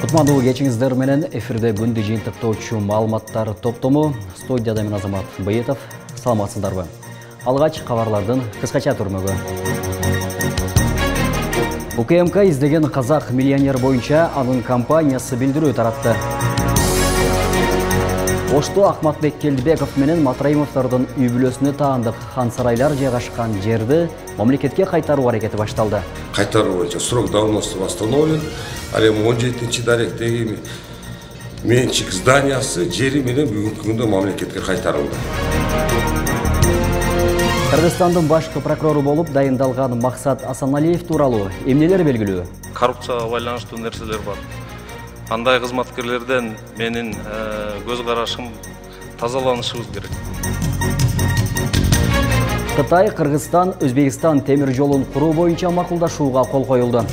Кутмандуу кечиңиздер менен эфирде күндү жыйынтыктоочу маалыматтар топтому. Студияда мен Азамат Быйытов. Саламатсыздарбы? Алгач кабарлардын кыскача түрмөгү. УКМК издеген казак миллионер боюнча анын компаниясы билдирүү таратты. Ошто Ахматбек Келдибеков менен Матраимовдордун үй бүлөсүнө таандык хан сарайлар жайгашкан жерди мамлекетке кайтаруу аракети башталды. Кайтаруу боюнча срок давности восстановлен. Ал эми 17-даректеги менчик зданиясы жери менен бүгүнкү күндө мамлекетке кайтарылды. Кыргызстандын башкы прокурору болуп дайындалган Максат Асаналиев тууралуу эмнелер белгилүү? Коррупцияга байланыштуу нерселер бар. Андай кызматкерлерден менин көз карашым тазаланышыбыз керек. Кытай, Кыргызстан, Өзбекстан темир жолун куруу боюнча макулдашууга кол коюлду.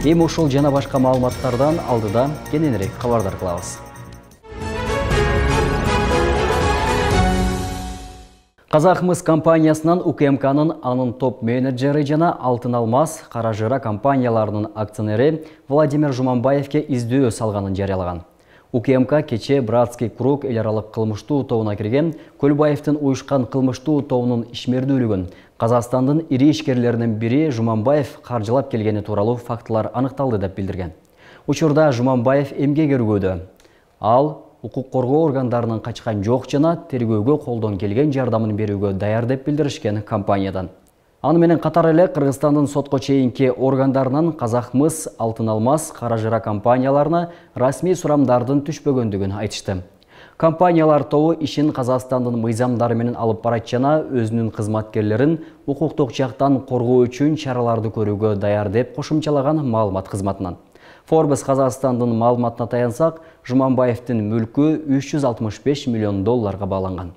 Эми ушул жана башка маалыматтардан алдыда кененирээк кабардар кылабыз. Казахмыс компаниясынан УКМКнын анын топ менеджери жана Алтын Алмаз, Кара Жыра компанияларынын акционери Владимир Жуманбаевке издөө салганын жарыялаган. УКМК кече Братский круг эл аралык кылмыштуу тобуна кирген Көлбаевдин уюшкан кылмыштуу тобунун ишмердүүлүгүн Казакстандын ири ишкерлеринин бири Жуманбаев каржылап келгени тууралуу фактылар аныкталды деп билдирген. Учурда Жуманбаев эмгек өргүүдө. Ал укук коргоо органдарынын качкан жок жана тергөөгө колдон келген жардамын берүүгө даяр деп билдиришкен компаниядан. Аны менен катар эле Кыргызстандын сотко чейинки органдарынан Казахмыс, Алтын Алмаз, Кара Жыра компанияларына расмий сурамдардын түшпөгөндүгүн айтышты. Компаниялар тобу ишин Казакстандын мыйзамдары менен алып барат жана өзүнүн кызматкерлерин укуктук жактан коргоо үчүн чараларды көрүүгө даяр деп кошумчалаган маалымат кызматынан. Forbes Казакстандын маалыматына таянсак, Жуманбаевдин мүлкү 365 миллион долларга бааланган.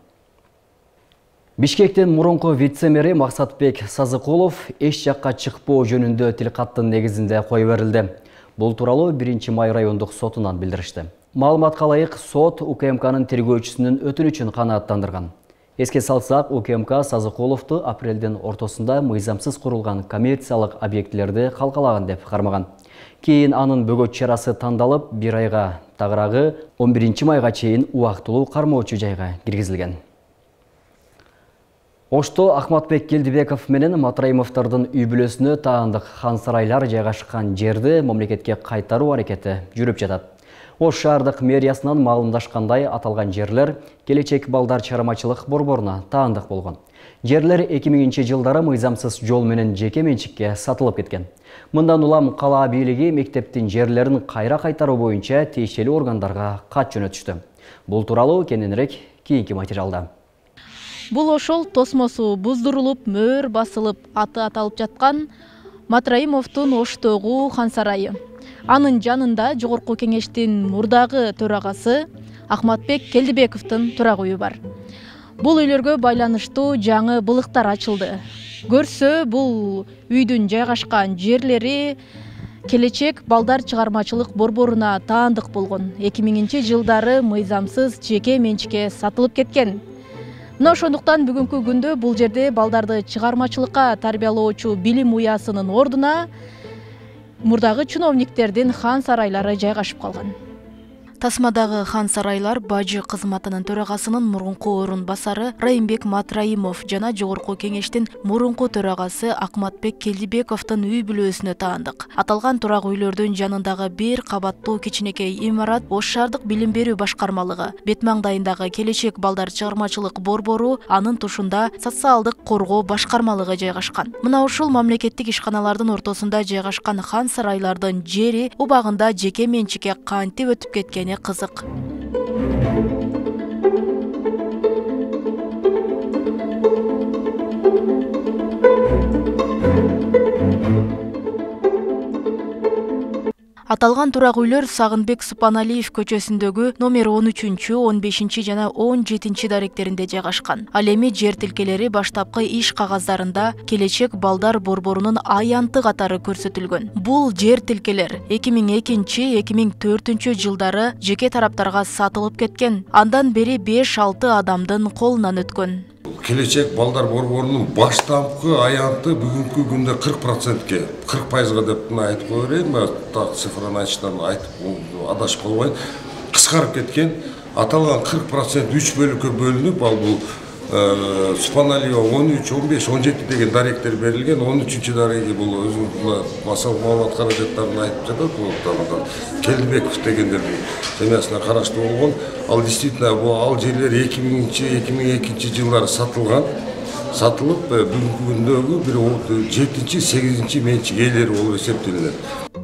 Бишкектин мурунку вице-мэри Максатбек Сазыкулов эч жакка чыкпоо жөнүндө тилкаттын негизинде кое берилди. Бул тууралуу 1-май райондук сотунан билдиришти. Маалыматка ылайык сот УКМКнын тергөөчүсүнүн өтүнүчүн канааттандырган. Эске салсак, УКМК Сазыкуловду апрелдин ортосунда мыйзамсыз курулган коммерциялык объектилерди калкалаган деп кармаган. Кийин анын бөгөт чарасы тандалып, 1 айга тагыраагы 11-майга чейин убактылуу кармоочу жайга киргизилген. Ошто Ахматбек Келдибеков менен Матраимовдордун үй бүлөсүнө таандык хан сарайлар жайгашкан жерди мамлекетке кайтаруу аракети жүрүп жатат. Ош шаардык мэриясынан маалымдашкандай, аталган жерлер келечек балдар чыгармачылык борборуна таандык болгон. Жерлер 2000-жылдары мыйзамсыз жол менен жеке менчикке сатылып кеткен. Мындан улам кала бийлиги мектептин жерлерин кайра кайтаруу боюнча тиешелүү органдарга кат жөнөтүштү. Бул тууралуу кененирээк кийинки материалда. Бул ошол тосмосу буздурулуп, мөөр басылып, аты аталып жаткан Матраимовдун Оштогу хан сарайы. Анын жанында Жогорку кеңештин мурдагы төрагасы Ахматбек Келдибековдун турак үйү бар. Бул үйлөргө байланыштуу жаңы былыктар ачылды. Көрсө, бул үйдүн жайгашкан жерлери келечек балдар чыгармачылык борборуна таандык болгон. 2000-жылдары мыйзамсыз жеке менчикке сатылып кеткен. Мына ошондуктан бүгүнкү күндө бул жерде балдарды чыгармачылыкка тарбиялоочу билим уясынын ордуна мурдагы чиновниктердин хан сарайлары жайгашып калган. Тасмадагы хан сарайлар бажы кызматынын төрагасынын мурунку орун басары Райымбек Матраимов жана Жогорку кеңештин мурунку төрагасы Ахматбек Келдибековдун үй бүлөсүнө таандык. Аталган турак үйлөрдүн жанындагы 1 кабаттуу кичинекей имарат Ош шаардык билим берүү башкармалыгы, бет маңдайындагы келечек балдар чыгармачылык борбору, анын тушунда социалдык коргоо башкармалыгы жайгашкан. Мына ушул мамлекеттик ишканалардын ортосунда жайгашкан хан сарайлардын жери убагында жеке менчикке кантип өтүп кеткен кызык. Аталган турак үйлөр Сагынбек Супаналиев көчөсүндөгү номер 13, 15 жана 17 даректеринде жайгашкан. Ал эми жер тилкелери баштапкы иш кагаздарында келечек балдар борборунун аянты катары көрсөтүлгөн. Бул жер тилкелер 2002-2004 жылдары жеке тараптарга сатылып кеткен. Андан бери 5-6 адамдын колунан өткөн. Келечек балдар борборунун баштапкы аянты бүгүнкү күндө 40%ке, 40%га деп айтып кое берейин, так цифраны айтыштан айтып адашып калбайын, кыскарып кеткен. Аталган 40% 3 бөлүккө бөлүнүп, ал бул Субханалиева 13, 15, 17 деген даректер берилген. 13-чү дареги бул өзүнүн массалык маалымат каражаттарын айтып жатат. Бул Келдибеков дегендердин семьясына караштуу болгон. Ал действительно ал жерлер 2000-2002 жылдары сатылып бүгүнкү күндөгү бир 7-8 менчик ээлери болуп эсептелинет.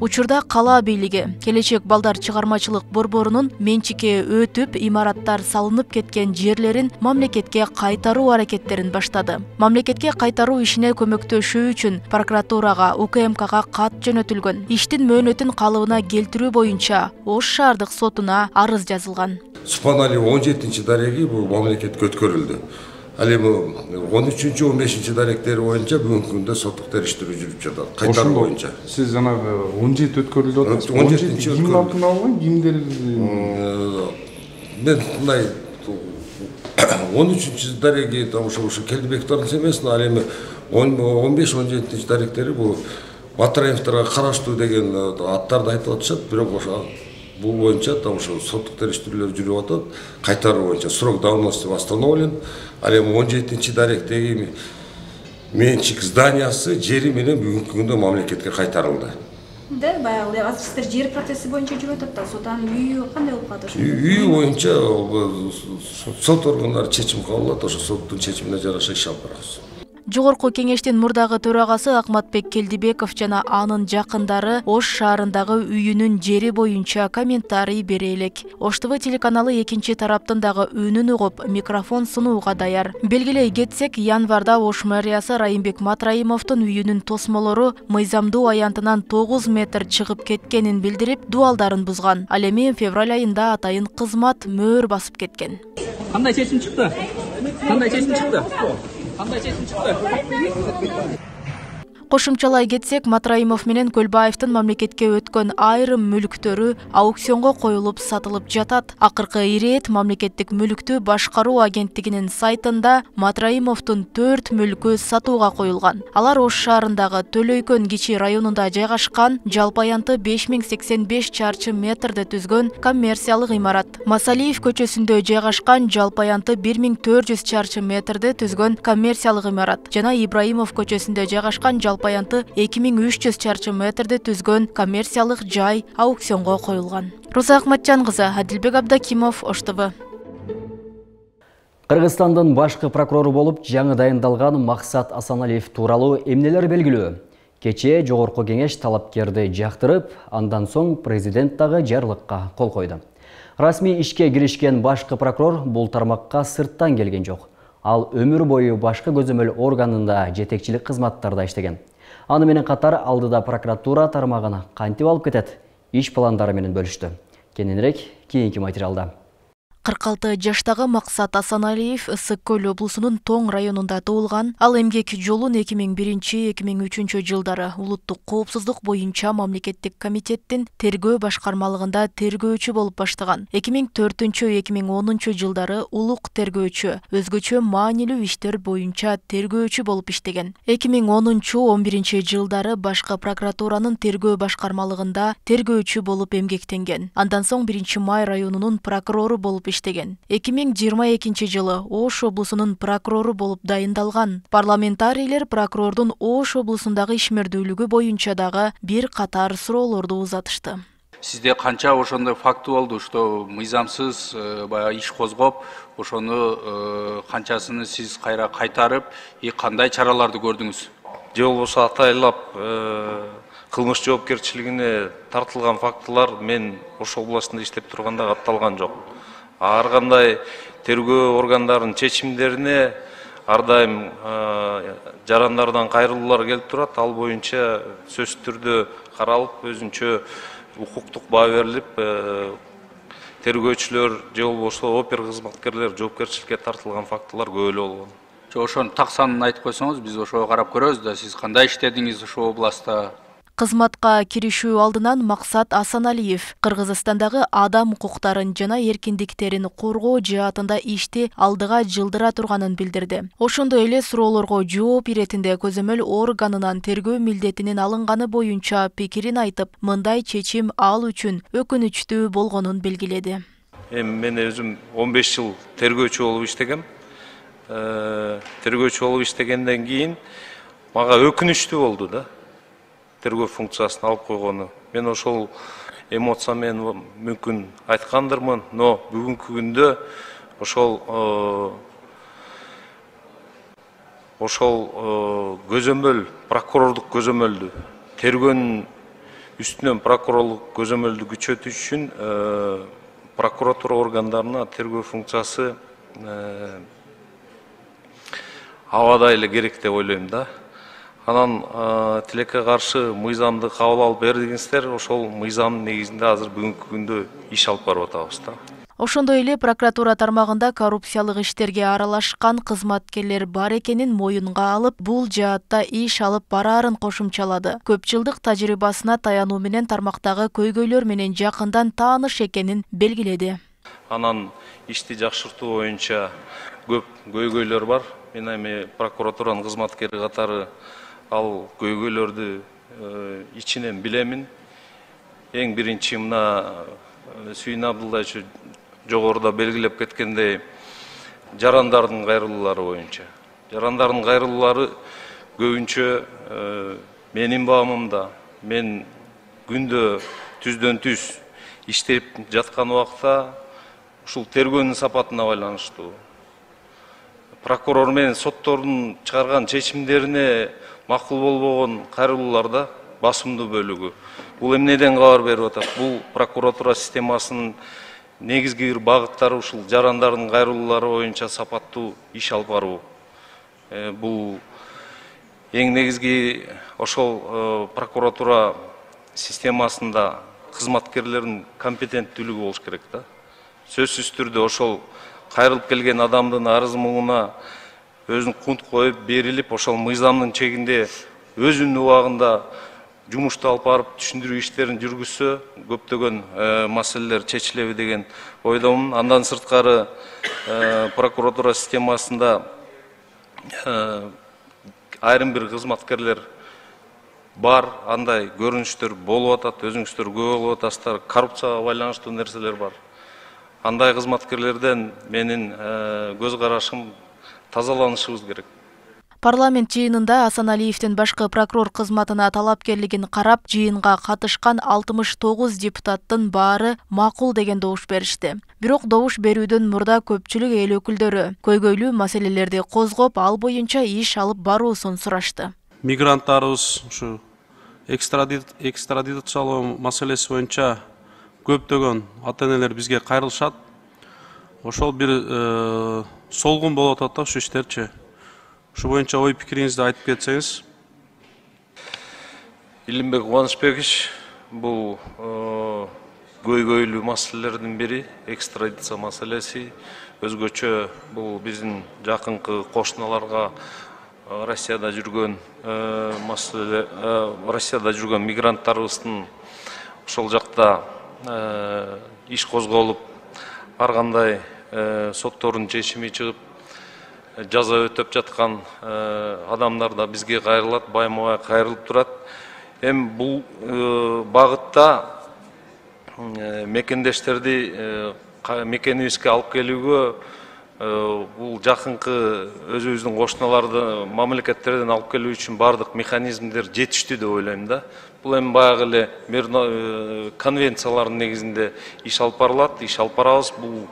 Учурда кала бийлиги Келечек балдар чыгармачылык борборунун менчикке өтүп, имараттар салынып кеткен жерлерин мамлекетке кайтаруу аракеттерин баштады. Мамлекетке кайтаруу ишине көмөктөшүү үчүн прокуратурага, УКМКга кат жөнөтүлгөн. Иштин мөөнөтүн калыбына келтирүү боюнча Ош шаардык сотуна арыз жазылган. Субханалиева 17-чи дареги бул мамлекетке өткөрүлдү. Ал эми 13-чү 15-чи даректери боюнча бүгүнкү күндө соттук териштирүү жүрүп жатат. Кайтаруу боюнча. Сиз жанагы 17 өткөрүлүп атат. 17-чи ким атын алган, кимдер? Мен мындай 13-чү дареги ошо Келдибековдун семьясына, ал эми 15-17-чи даректери бул Матраевторго караштуу деген аттарды айтып атышат, бирок ошо бул боюнча ошо соттук териштирүүлөр жүрүп атат. Кайтаруу боюнча срок давности восстановлен. Ал эми 17-чи даректеги менчик зданиясы жери менен бүгүнкү күндө мамлекетке кайтарылды. Да, баягы азыр сиздер жер процесси боюнча жүрүп атат да, сот анын үйү кандай болуп калат ошо? Үйү боюнча сот органдары чечим кабыл алат, ошо соттун чечимине жараша иш алып барабыз. Жогорку кеңештин мурдагы төрагасы Акматбек Келдибеков жана анын жакындары Ош шаарындагы үйүнүн жери боюнча комментарий бере элек. Ош ТВ телеканалы экинчи тараптын дагы үнүн угуп, микрофон сунууга даяр. Белгилей кетсек, январда Ош мэриясы Райымбек Матраимовдун үйүнүн тосмолору мыйзамдуу аянтынан 9 метр чыгып кеткенин билдирип, дуалдарын бузган. Ал эми февраль айында атайын кызмат мөөр басып кеткен. Кандай чечим чыкты? Кошумчалай кетсек, Матраимов менен Көлбаевдин мамлекетке өткөн айрым мүлктөрү аукционго коюлуп сатылып жатат. Акыркы ирет мамлекеттик мүлктү башкаруу агенттигинин сайтында Матраимовдун 4 мүлкү сатууга коюлган. Алар Ош шаарындагы Төлөйкөн кичи районунда жайгашкан, жалпы аянты 5085 чарчы метрде түзгөн коммерциялык имарат. Масалиев көчөсүндө жайгашкан, жалпы аянты 1400 чарчы метрде түзгөн коммерциялык имарат жана Ибраимов көчөсүндө жайгашкан, жалпы аянты 2300 чарчы метрде түзгөн коммерциялык жай аукционго коюлган. Роза Акматжан кызы, Адилбек Абдакимов, Ош ТВ. Кыргызстандын башкы прокурору болуп жаңы дайындалган Максат Асаналиев тууралуу эмнелер белгилүү? Кечээ жогорку кеңеш талапкерди жактырып, андан соң президент дагы жарлыкка кол койду. Расмий ишке киришкен башкы прокурор бул тармакка сырттан келген жок. Ал өмүр бою башкы көзөмөл органында жетекчилик кызматтарда иштеген. Аны менен катар алдыда прокуратура тармагын кантип алып кетет? Иш пландары менен бөлүштү. Кененирээк кийинки материалда. 46 жаштагы Максат Асаналиев Ысык-Көл облусунун Тоң районунда туулган. Ал эмгек жолун 2001-2003 жылдары улуттук коопсуздук боюнча мамлекеттик комитеттин тергөө башкармалыгында тергөөчү болуп баштаган. 2004-2010 жылдары улук тергөөчү, өзгөчө маанилүү иштер боюнча тергөөчү болуп иштеген. 2010-11 жылдары башкы прокуратуранын тергөө башкармалыгында тергөөчү болуп эмгектенген. Андан соң 1-Май районунун прокурору болуп иштеген. 2022 жылы Ош облусунун прокурору болуп дайындалган. Парламентарийлер прокурордун Ош облусундагы ишмердүүлүгү боюнча дагы бир катар суроолорду узатышты. Сизде канча ошондой факты болду, что мыйзамсыз баягы иш козгоп, ошону канчасыны сиз кайра кайтарып, кандай чараларды көрдүңүз? Же болбосо атайлап кылмыш жоопкерчилигине тартылган фактылар мен Ош областында иштеп турганда катталган жок. Ар кандай тергөө органдарынын чечимдерине ар дайым жарандардан кайрылуулар келип турат. Ал боюнча сөзсүз түрдө каралып, өзүнчө укуктук баа берилип, тергөөчүлөр же болбосо опер кызматкерлер жоопкерчиликке тартылган фактылар көп эле болгон. Ошонун так санын айтып койсоңуз, биз ошого карап көрөбүз да, сиз кандай иштедиңиз ошол областта? Кызматка киришүү алдынан Максат Асаналиев Кыргызстандагы адам укуктарын жана эркиндиктерин коргоо жаатында ишти алдыга жылдыра турганын билдирди. Ошондой эле суроолорго жооп иретинде көзөмөл органынан тергөө милдетинин алынганы боюнча пикирин айтып, мындай чечим ал үчүн өкүнүчтүү болгонун белгиледи. Мен өзүм 15 жыл тергөөчү болуп иштегем. Тергөөчү болуп иштегенден кийин мага өкүнүчтүү болду да. Тергөө функциясын алып койгону. Мен ошол эмоциямен мүмкүн айткандырмын, но бүгүнкү күндө ошол көзөмөл, прокурорлук көзөмөлдү, тергөөнүн үстүнөн прокурорлук көзөмөлдү күчөтүш үчүн прокуратура органдарына тергөө функциясы абада эле керек деп ойлойм да. Анан тилекке каршы мыйзамды кабыл алып бердиңиздер, ошол мыйзамдын негизинде азыр бүгүнкү күндө иш алып барып атабыз да. Ошондой эле прокуратура тармагында коррупциялык иштерге аралашкан кызматкерлер бар экенин моюнга алып, бул жаатта иш алып бараарын кошумчалады. Көп жылдык тажрыйбасына таянуу менен тармактагы көйгөйлөр менен жакындан тааныш экенин белгиледи. Анан ишти жакшыртуу боюнча көп көйгөйлөр бар. Мен эми прокуратуранын кызматкери катары ал көйгөйлөрдү ичинен билемин. Эң биринчи мына Сүйүн Абдуллаевич жогоруда белгилеп кеткендей, жарандардын кайрылуулары боюнча. Жарандардын кайрылуулары көбүнчө менин баамымда, мен күндө түздөн түз иштеп жаткан убакта ушул тергөөнүн сапатына байланыштуу. Прокурор менен соттордун чыгарган чечимдерине макул болбогон кайрылууларда басымдуу бөлүгү. Бул эмнеден кабар берип атат? Бул прокуратура системасынын негизги бир багыттары ушул жарандардын кайрылуулары боюнча сапаттуу иш алып баруу. Бул эң негизги ошол прокуратура системасында кызматкерлердин компетенттүүлүгү болуш керек да. Сөзсүз түрдө ошол кайрылып келген адамдын арыз муңуна өзүн кунт коюп берилип, ошол мыйзамдын чегинде өзүнүн убагында жумушту алып барып түшүндүрүү иштерин жүргүзсө, көптөгөн маселелер чечилеби деген ойдомун. Андан сырткары прокуратура системасында айрым бир кызматкерлер бар, андай көрүнүштөр болуп атат, өзүңүздөр күбө болуп атасыздар, коррупцияга байланыштуу нерселер бар. Андай кызматкерлерден менин көз карашым тазаланышыбыз керек. Парламент жыйынында Асаналиевдин башкы прокурор кызматына талапкерлигин карап, жыйынга катышкан 69 депутаттын баары макул деген добуш беришти. Бирок добуш берүүдөн мурда көпчүлүк эл өкүлдөрү көйгөйлүү маселелерди козгоп, ал боюнча иш алып баруусун сурашты. Мигранттарыбыз ушу экстрадициялоо маселеси боюнча көптөгөн ата-энелер бизге кайрылышат. Ошол бир солгун болуп атат да ушу иштерчи. Ушу боюнча ой пикириңизди айтып кетсеңиз. Илимбек Кубанычбекович, бул көйгөйлүү маселелердин бири экстрадиция маселеси. Өзгөчө бул биздин жакынкы кошуналарга Россияда жүргөн маселе, Россияда жүргөн мигранттарыбыздын ошол жакта иш козголуп, ар кандай соттордун чечими чыгып, жаза өтөп жаткан адамдар да бизге кайрылат, байма-бай кайрылып турат. Эми бул багытта мекендештерди мекенибизге алып келүүгө, бул жакынкы өзүбүздүн кошуналарды мамлекеттерден алып келүү үчүн бардык механизмдер жетиштүү деп ойлойм да. Бул эми баягы эле конвенциялардын негизинде иш алып барылат, иш алып барабыз. Бул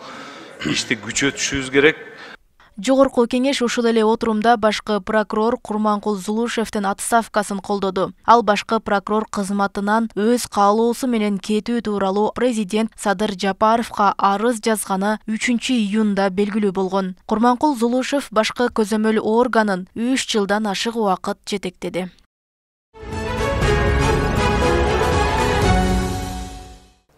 ишти күчөтүшүбүз керек. Жогорку кеңеш ушул эле отурумда башкы прокурор Курманкул Зулушевдин отставкасын колдоду. Ал башкы прокурор кызматынан өз каалоосу менен кетүү тууралуу президент Садыр Жапаровго арыз жазганы 3-июнда белгилүү болгон. Курманкул Зулушев башкы көзөмөл органын 3 жылдан ашык убакыт жетектеди.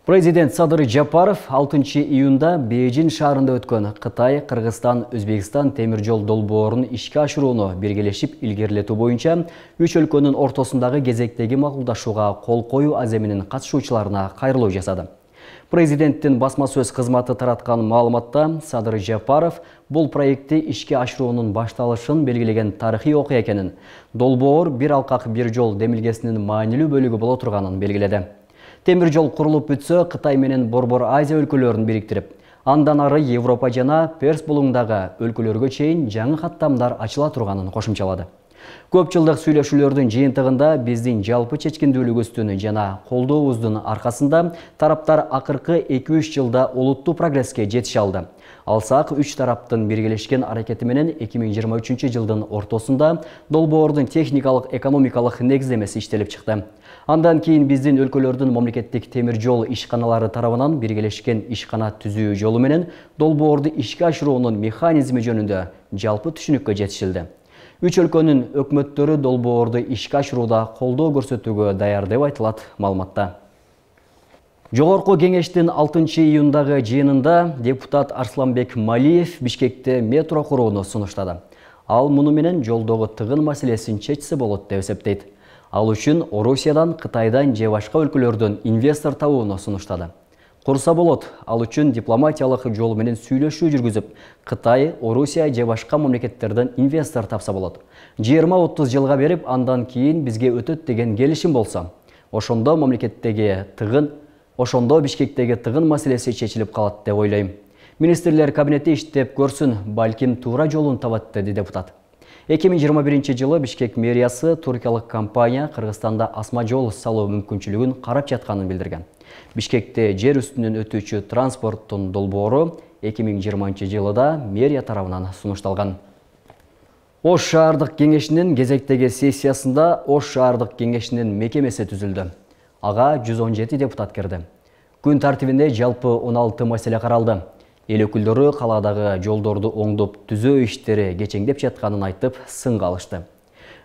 Президент Садыр Жапаров 6 июнда Бейжин шаарында өткөн Кытай, Кыргызстан, Өзбекстан темир жол долбоорун ишке ашырууну биргелешип илгерилетүү боюнча 3 өлкөнүн ортосундагы кезектеги макулдашууга кол коюу аземинин катышуучуларына кайрылуу жасады. Президенттин басма сөз кызматы тараткан маалыматта Садыр Жапаров бул проектти ишке ашыруунун башталышын белгилеген тарыхый окуя экенин, долбоор бир алкак бир жол демилгесинин маанилүү бөлүгү боло турганын белгиледи. Темир жол курулуп бүтсө, Кытай менен Борбор Азия өлкөлөрүн бириктирип, андан ары Европа жана Перс булуңдагы өлкөлөргө чейин жаңы каттамдар ачыла турганын кошумчалады. Көп жылдык сүйлөшүүлөрдүн жыйынтыгында биздин жалпы чечкиндүүлүгүбүздүн жана колдообуздун аркасында тараптар акыркы 2-3 жылда олуттуу прогресске жетише алды. Алсак, 3 тараптын биргелешкен аракети менен 2023 жылдын ортосунда долбоордун техникалык экономикалык негиздемеси иштелип чыкты. Андан кийин биздин өлкөлөрдүн мамлекеттик темир жол ишканалары тарабынан биргелешкен ишкана түзүү жолу менен долбоорду ишке ашыруунун механизми жөнүндө жалпы түшүнүккө жетишилди. 3 өлкөнүн өкмөттөрү долбоорду ишке ашырууда колдоо көрсөтүүгө даяр деп айтылат маалыматта. Жогорку кеңештин 6 июндагы жыйынында депутат Арсланбек Малиев Бишкекте метро курууну сунуштады. Ал муну менен жолдогу тыгын маселесин чечсе болот деп эсептейт. Ал үчүн Орусиядан, Кытайдан же башка өлкөлөрдөн инвестор табууну сунуштады. Курса болот, ал үчүн дипломатиялык жол менен сүйлөшүү жүргүзүп, Кытай, Орусия же башка мамлекеттерден инвестор тапса болот. 20-30 жылга берип, андан кийин бизге өтөт деген келишим болсо, ошондо Бишкектеги тыгын маселеси чечилип калат деп ойлойм. Министрлер кабинети иштеп көрсүн, балким туура жолун табат, деди депутат. 2021 жылы Бишкек мэриясы туркиялык компания Кыргызстанда асма жол салуу мүмкүнчүлүгүн карап жатканын билдирген. Бишкекте жер үстүнөн өтүүчү транспорттун долбоору 2020 жылыда мэрия тарабынан сунушталган. Ош шаардык кеңешинин кезектеги сессиясында Ош шаардык кеңешинин мекемеси түзүлдү. Ага 117 депутат кирди. Күн тартибинде жалпы 16 маселе каралды. Эл өкүлдөрү калаадагы жолдорду оңдоп түзөө иштери кечеңдеп жатканын айтып, сынга алышты.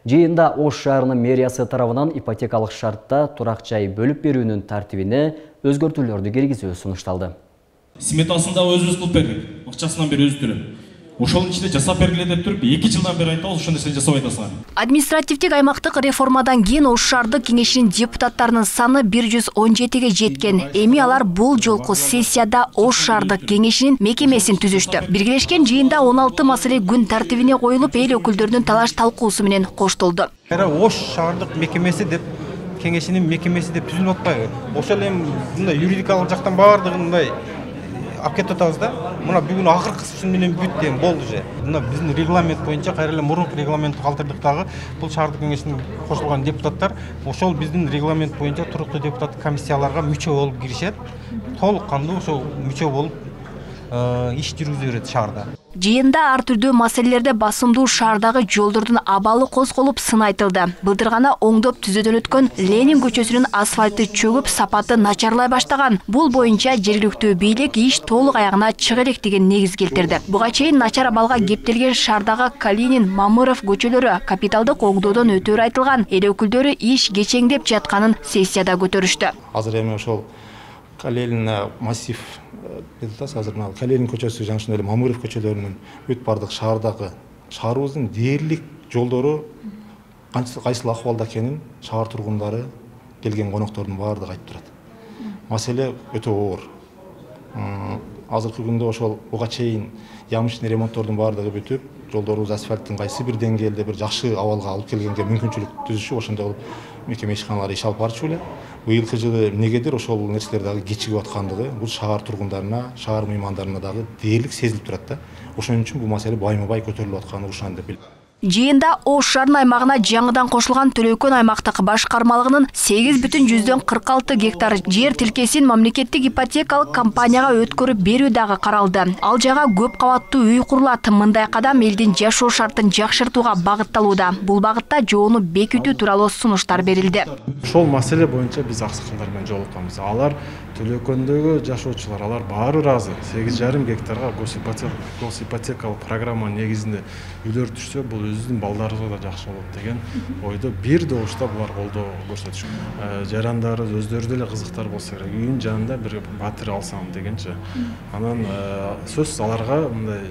Жыйында Ош шаарынын мэриясы тарабынан ипотекалык шартта турак жай бөлүп берүүнүн тартибине өзгөртүүлөрдү киргизүү сунушталды. Сметасын да өзүбүз кылып бердик. Акчасынан бери өзү төлөп. Ошонун ичинде жасап бергиле деп туруп, 2 жылдан бери айтабыз, ошондо сен жасап атасың. Административдик аймактык реформадан кийин Ош шаардык кеңешинин депутаттарынын саны 117ге жеткен. Эми алар бул жолку сессияда Ош шаардык кеңешинин мекемесин түзүштү. Биргелешкен жыйында 16 маселе күн тартибине коюлуп, эл өкүлдөрүнүн талаш талкуусу менен коштолду. Ош шаардык мекемеси деп кеңешинин мекемеси деп түзүлүп атпайбы? Ошол эми мындай юридикалык жактан баардыгын мындай алып кетип атабыз да. Мына бүгүн акыркысы менен бүт эми болду же. Мына биздин регламент боюнча кайра эле мурунку регламентти калтырдык дагы. Бул шаардык кеңешине кошулган депутаттар ошол биздин регламент боюнча туруктуу депутаттык комиссияларга мүчө болуп киришет. Толук кандуу ошол мүчө болуп иш жүргүзүп берет шаарда. Жыйында ар түрдүү маселелерде басымдуу шаардагы жолдордун абалы козголуп сын айтылды. Былтыр гана оңдоп түзөөдөн өткөн Ленин көчөсүнүн асфальты чөгүп, сапаты начарлай баштаган. Бул боюнча жергиликтүү бийлик иш толук аягына чыга элек деген негиз келтирди. Буга чейин начар абалга кептелген шаардагы Калинин, Мамыров көчөлөрү капиталдык оңдоодон өтөөрү айтылган. Эл өкүлдөрү иш кечеңдеп жатканын сессияда көтөрүштү. Азыр эми ошол Калинин массив азыр Калинин көчөсү жана ошондой эле Мамыров көчөлөрүнүн бүт бардык шаарыбыздын дээрлик жолдору кайсыл акыбалда экенин шаар тургундары, келген коноктордун баардыгы айтып турат. Маселе өтө оор. Азыркы күндө ошол буга чейин ямычный ремонттордун баардыгы бүтүп, жолдорубуз асфальттын кайсы бир деңгээлде бир жакшы абалга алып келгенге мүмкүнчүлүк түзүшүп, ошондой кылып мекеме ишканалары иш алып барчу эле. Быйылкы жылы эмнегедир ошол нерселер дагы кечигип аткандыгы бул шаар тургундарына, шаар мыймандарына дагы дээрлик сезилип турат да. Ошон үчүн бул маселе байма-бай көтөрүлүп атканы ушан деп билем. Жыйында Ош шаарынын аймагына жаңыдан кошулган Төлөкөн аймактык башкармалыгынын 8,46 гектар жер тилкесин мамлекеттик ипотекалык компанияга өткөрүп берүү дагы каралды. Ал жага көп кабаттуу үй курулат. Мындай кадам элдин жашоо шартын жакшыртууга багытталууда. Бул багытта жоону бекитүү тууралуу сунуштар берилди. Ошол маселе боюнча биз аксакалдар менен жолукканбыз. Алар Төлөкөндөгү жашоочулар, алар баары ыраазы. 8,5 гектарга госипотекалык программа негизинде үйлөр түшсө, бул өзүбүздүн балдарыбызга да жакшы болот деген ойдо бир добушта булар колдоо көрсөтүшкөн. Жарандары өздөрү деле кызыктар болсо керек. Үйүнүн жанында бир батир алсам дегенчи. Анан сөзсүз аларга мындай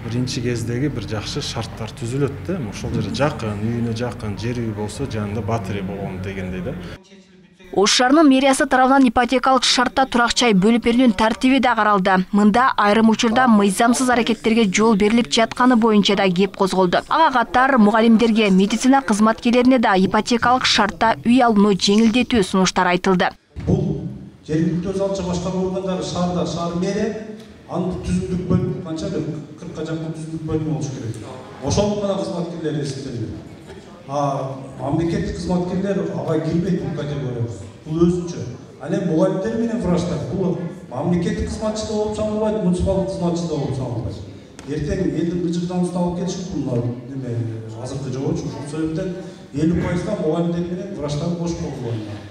биринчи кездеги бир жакшы шарттар түзүлөт да. Ошол жерде жакын, үйүнө жакын, жер үй болсо жанында батири болгон дегендей да. Ош шаарынын мэриясы тарабынан ипотекалык шартта турак жай бөлүп берүүнүн тартиби да каралды. Мында айрым учурда мыйзамсыз аракеттерге жол берилип жатканы боюнча да кеп козголду. Ага катар мугалимдерге, медицина кызматкерлерине да ипотекалык шартта үй алууну жеңилдетүү сунуштар айтылды. Бул жергиликтүү өз алчы башкаруу органдары шаарда шаар мэрия аны түзүмдүк бөлүм канча 40ка жакын түзүмдүк бөлүм болуш керек. Ошол гана кызматкерлер эсептелген. Мамлекеттик кызматкерлер ага кирбейт бул категорияга. Бул өзүнчө. Ал эми мугалимдер менен врачтар бул мамлекеттик кызматчы да болуп саналбайт, муниципалдык кызматчы да болуп саналбайт. Эртең элдин быжыктануусун алып келишип булар неме азыркы жобочу. Ошол себептен 50% мугалимдер менен врачтар кош колдонот.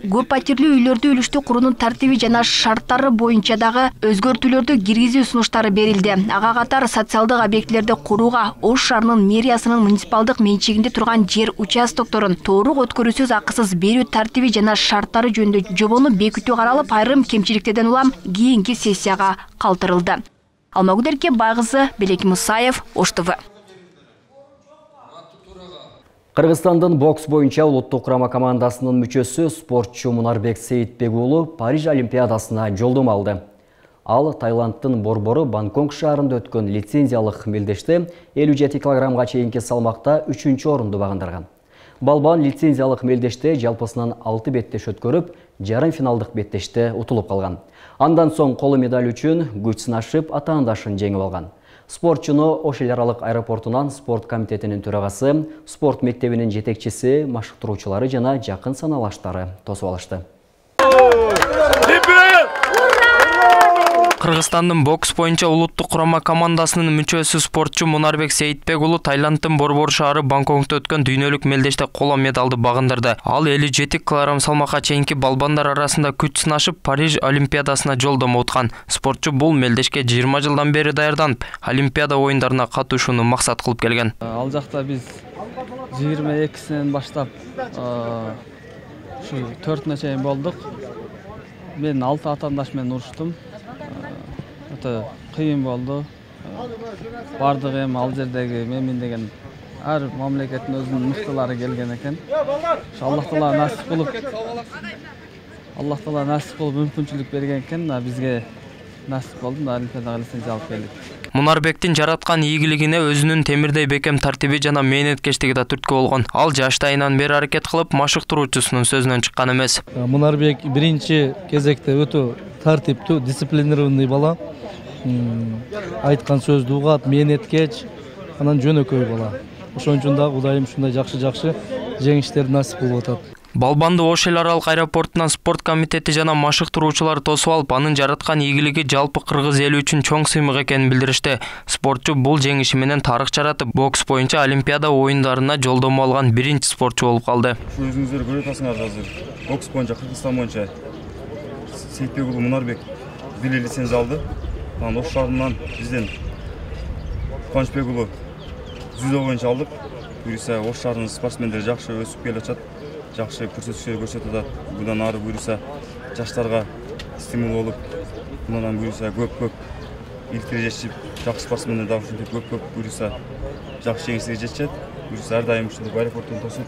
Көп патирлүү үйлөрдү үлүштүү куруунун тартиби жана шарттары боюнча дагы өзгөртүүлөрдү киргизүү сунуштары берилди. Ага катар социалдык объектилерди курууга Ош шаарынын мэриясынын муниципалдык менчигинде турган жер участокторун толук өткөрүүсүз акысыз берүү тартиби жана шарттары жөнүндө жобону бекитүү каралып, айрым кемчиликтерден улам кийинки сессияга калтырылды. Алмагүл Байгызы, Белек Мусаев, Ош ТВ. Кыргызстандын бокс боюнча улуттук курама командасынын мүчөсү спортчу Мунарбек Сейитбек уулу Париж олимпиадасына жолдомо алды. Ал Таиландтын борбору Бангкок шаарында өткөн лицензиялык мелдеште 57 килограммга чейинки салмакта 3-орунду багындарган. Балбан лицензиялык мелдеште жалпысынан 6 беттеш өткөрүп, жарым финалдык беттеште утулуп калган. Андан соң коло медаль үчүн күч сынашып, атаандашын жеңип алган. Спортчуну Ош эл аралык аэропортунан спорт комитетинин төрагасы, спорт мектебинин жетекчиси, машыктыруучулары жана жакын саналаштары тосуп алышты. Кыргызстандын бокс боюнча улуттук курама командасынын мүчөсү спортчу Мунарбек Сейитбек уулу Таиландтын борбор шаары Бангкокто өткөн дүйнөлүк мелдеште коло медалды багындырды. Ал 57 килограмм салмакка чейинки балбандар арасында күч сынашып, Париж олимпиадасына жолдомо уткан. Спортчу бул мелдешке 20 жылдан бери даярданып, олимпиада оюндарына катышууну максат кылып келген. Ал жакта биз 22-синен баштап ушу 4-нө чейин болдук. Мен 6 атаандаш менен уруштум. Өтө кыйын болду. Бардыгы эми ал жердеги мен деген ар мамлекеттин өзүнүн мыктылары келген экен. Аллах таала насип кылып мүмкүнчүлүк берген экен, бизге насип болду, олимпиадага лицензия алып келдик. Мунарбектин жараткан ийгилигине өзүнүн темирдей бекем тартиби жана мээнеткечтиги да түрткү болгон. Ал жаштайынан бери аракет кылып, машыктыруучусунун сөзүнөн чыккан эмес. Мунарбек биринчи кезекте өтө тартиптүү, дисциплинированный бала. Айткан сөздү угат, мээнеткеч, анан жөнөкөй бала. Ошон үчүн да Кудайым ушундай жакшы жеңиштерди насип кылып атат. Балбанды Ош эл аралык аэропортунан спорт комитети жана машыктыруучулар тосуп алып, анын жараткан ийгилиги жалпы кыргыз эли үчүн чоң сыймык экенин билдиришти. Спортчу бул жеңиши менен тарых жаратып, бокс боюнча олимпиада оюндарына жолдомо алган биринчи спортчу болуп калды. Өзүңүздөр көрүп атасыңар азыр. Бокс боюнча Кыргызстан боюнча Сейитбек уулу Мунарбек бир лицензия алды. Анан Ош шаарынан бизден Кубанычбек уулу дзюдо боюнча алдык. Буюрса Ош шаарынын спортсмендери жакшы өсүп келе атат. Жакшы көрсөтүштөр көрсөтүп атат. Будан ары буюрса жаштарга стимул болуп, мындан буюрса көп иликтире жетишип, жакшы спортсмендер дагы ушинтип көп буюрса жакшы жеңиштерге жетишет. Буюрса ар дайым ушинтип аэропорттон тосуп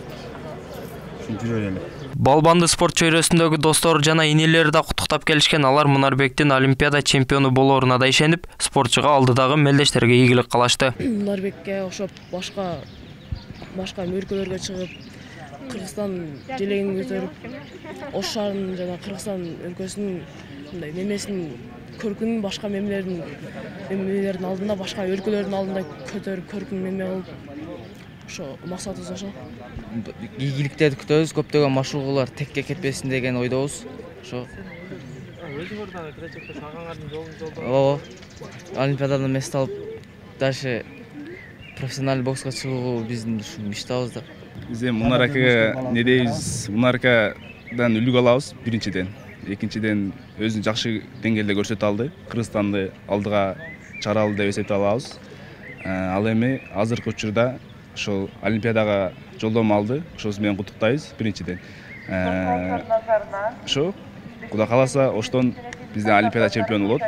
ушинтип жүрө эле. Балбанды спорт чөйрөсүндөгү достору жана инелери да куттуктап келишкен. Алар Мунарбектин олимпиада чемпиону болоруна да ишенип, спортчуга алдыдагы мелдештерге ийгилик кылышты. Мунарбекке окшоп башка өлкөлөргө чыгып, Кыргызстан желегин көтөрүп, Ош шаарынын жана Кыргызстан өлкөсүнүн мындай немесин көркүнүн башка мемлекеттердин алдында, башка өлкөлөрдүн алдында көтөрүп, көркүн неме кылып, ошо максатыбыз ошо. Ийгиликтерди күтөбүз, көптөгөн машыгуулар текке кетпесин деген ойдобуз. Ошо. Өзүңөр дагы келечекте шагаңардын жолуңузда. Ооба. Олимпиададан мест алып, дальше профессионалдуу бокска чыгуу биздин мечтабыз да. Биз Мунар акага не дейбиз? Мунар акадан үлгү алабыз биринчиден. Экинчиден өзүн жакшы деңгээлде көрсөтө алды. Кыргызстанды алдыга чыгара алды деп эсептей алабыз. Ал эми азыркы учурда ошол Олимпиадага жолдомо алды. Ошосу менен куттуктайбыз биринчиден. Ошо Кудай кааласа оштон биздин Олимпиада чемпиону болот.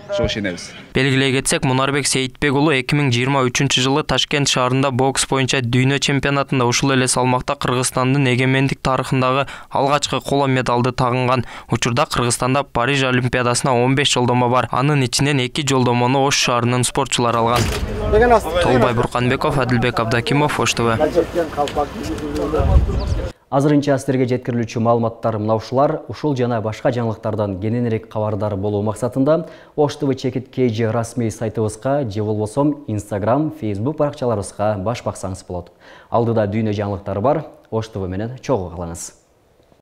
Ошого ишенебиз. Белгилей кетсек, Мунарбек Сейитбек уулу 2023-жылы Ташкент шаарында бокс боюнча дүйнө чемпионатында ушул эле салмакта Кыргызстандын эгемендик тарыхындагы алгачкы коло медалды тагынган. Учурда Кыргызстанда Париж Олимпиадасына 15 жолдомо бар. Анын ичинен 2 жолдомону Ош шаарынын спортчулары алган. Толбай Бурканбеков, Адилбек Абдакимов, Ош ТВ. Азырынча сіздерге жеткирилүүчү маалыматтар мына ушулар. Ушул жана башка жаңылыктардан кененирээк кабардар болуу максатында Ош ТВ Чекит KG расмий сайтыбызга же болбосо Instagram, Facebook баракчаларыбызга баш баксаңыз болот. Алдыда дүйнө жаңылыктары бар. Ош ТВ менен чогуу калыңыз.